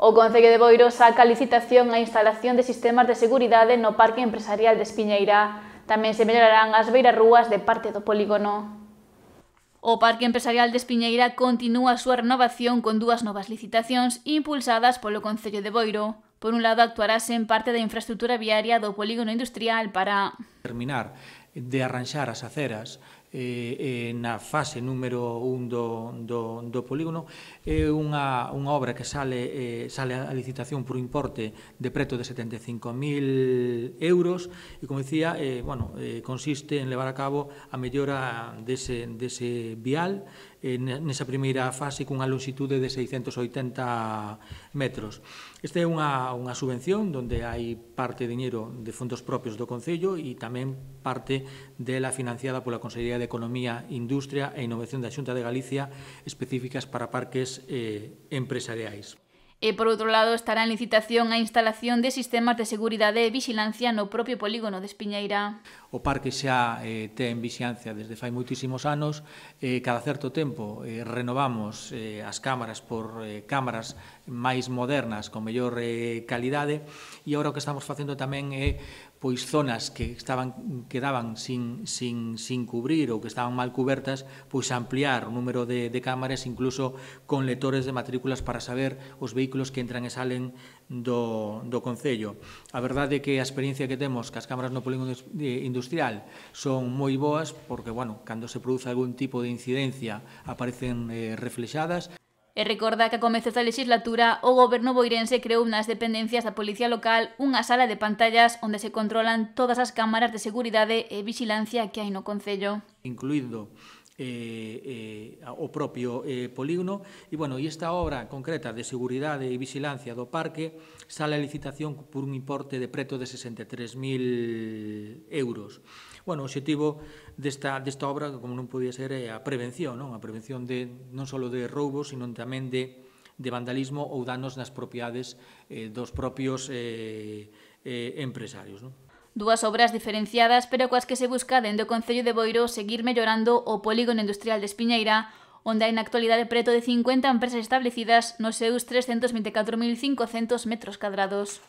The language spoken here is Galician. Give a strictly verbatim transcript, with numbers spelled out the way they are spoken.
O Concello de Boiro saca a licitación a instalación de sistemas de seguridade no Parque Empresarial de Espiñeira. Tamén se mellorarán as beirarrúas de parte do polígono. O Parque Empresarial de Espiñeira continúa a súa renovación con dúas novas licitacións impulsadas polo Concello de Boiro. Por un lado, actuarase en parte da infraestructura viaria do polígono industrial para terminar de arranxar as aceras eh, eh, na fase número un do, do, do polígono. É unha, unha obra que sale, eh, sale a licitación por un importe de preto de setenta e cinco mil euros e, como dicía, eh, bueno, eh, consiste en levar a cabo a mellora dese, dese vial eh, nesa primeira fase cunha longitude de seiscentos oitenta metros. Esta é unha, unha subvención onde hai parte de diñeiro de fondos propios do Concello e tamén parte dela financiada pola Consellería de Economía, Industria e Innovación da Xunta de Galicia específicas para parques eh, empresariais. E, por outro lado, estará en licitación a instalación de sistemas de seguridade e vixilancia no propio polígono de Espiñeira. O parque xa eh, ten vixiancia desde fai moitísimos anos. Eh, cada certo tempo eh, renovamos eh, as cámaras por eh, cámaras máis modernas, con mellor eh, calidade, e agora o que estamos facendo tamén é pois zonas que estaban quedaban sin, sin, sin cubrir ou que estaban mal cubertas, pois ampliar o número de, de cámaras, incluso con lectores de matrículas para saber os vehículos que entran e salen do, do Concello. A verdade é que a experiencia que temos que as cámaras no polígono industrial son moi boas, porque, bueno, cando se produce algún tipo de incidencia aparecen eh, reflexadas. E recorda que a comezos da legislatura o goberno boirense creou nas dependencias da Policía Local unha sala de pantallas onde se controlan todas as cámaras de seguridade e vixilancia que hai no Concello. Incluído eh, eh, o propio eh, polígono, e, bueno, e esta obra concreta de seguridade e vixilancia do parque sale a licitación por un importe de preto de sesenta e tres mil euros. Bueno, o obxectivo desta, desta obra, como non podía ser, é a prevención, non? A prevención de, non só de roubos, sino tamén de, de vandalismo ou danos nas propiedades eh, dos propios eh, eh, empresarios, non? Dúas obras diferenciadas, pero coas que se busca dende o Concello de Boiro seguir mellorando o polígono industrial de Espiñeira, onde hai na actualidade preto de cincuenta empresas establecidas nos seus trescentos vinte e catro mil cincocentos metros cadrados.